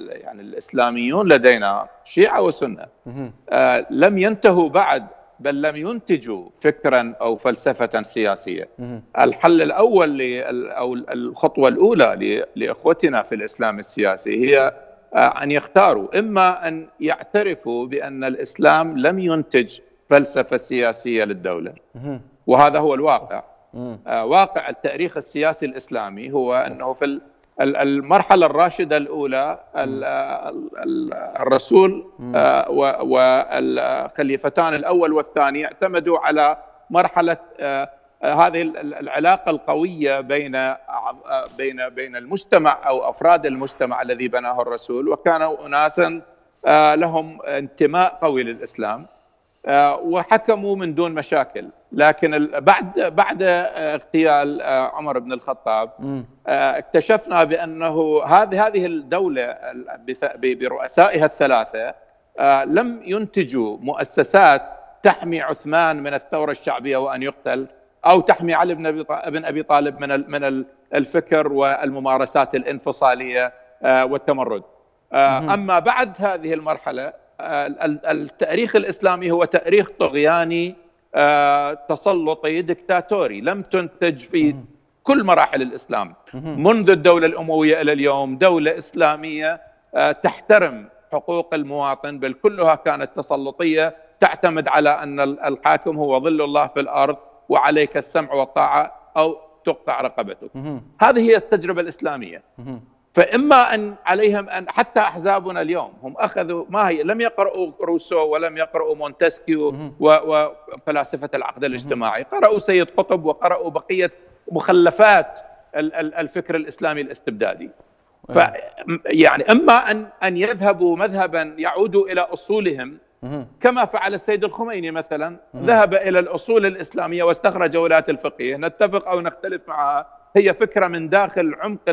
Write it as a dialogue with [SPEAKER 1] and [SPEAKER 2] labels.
[SPEAKER 1] يعني الإسلاميون لدينا شيعة وسنة لم ينتهوا بعد، بل لم ينتجوا فكرا أو فلسفة سياسية. الحل الأول أو الخطوة الأولى لإخوتنا في الإسلام السياسي هي أن يختاروا، إما أن يعترفوا بأن الإسلام لم ينتج فلسفة سياسية للدولة، وهذا هو الواقع. واقع التاريخ السياسي الإسلامي هو أنه في المرحلة الراشدة الأولى الرسول والخليفتان الأول والثاني اعتمدوا على مرحلة هذه العلاقة القوية بين المجتمع أو أفراد المجتمع الذي بناه الرسول، وكانوا أناسا لهم انتماء قوي للإسلام وحكموا من دون مشاكل. لكن بعد اغتيال عمر بن الخطاب اكتشفنا بأنه هذه الدولة برؤسائها الثلاثة لم ينتجوا مؤسسات تحمي عثمان من الثورة الشعبية وأن يقتل، أو تحمي علي بن أبي طالب من الفكر والممارسات الانفصالية والتمرد. أما بعد هذه المرحلة التاريخ الإسلامي هو تاريخ طغياني تسلطي دكتاتوري، لم تنتج في كل مراحل الإسلام منذ الدولة الأموية إلى اليوم دولة إسلامية تحترم حقوق المواطن، بل كلها كانت تسلطية تعتمد على أن الحاكم هو ظل الله في الأرض وعليك السمع والطاعة أو تقطع رقبتك. هذه هي التجربة الإسلامية. فإما أن عليهم أن حتى أحزابنا اليوم هم أخذوا ما هي، لم يقرأوا روسو ولم يقرأوا مونتسكيو وفلاسفة العقد الاجتماعي، قرأوا سيد قطب وقرأوا بقية مخلفات الفكر الإسلامي الاستبدادي. يعني إما أن يذهبوا مذهبا يعودوا إلى أصولهم كما فعل السيد الخميني مثلا، ذهب إلى الأصول الإسلامية واستخرج ولاية الفقيه، نتفق أو نختلف معها، هي فكرة من داخل عمق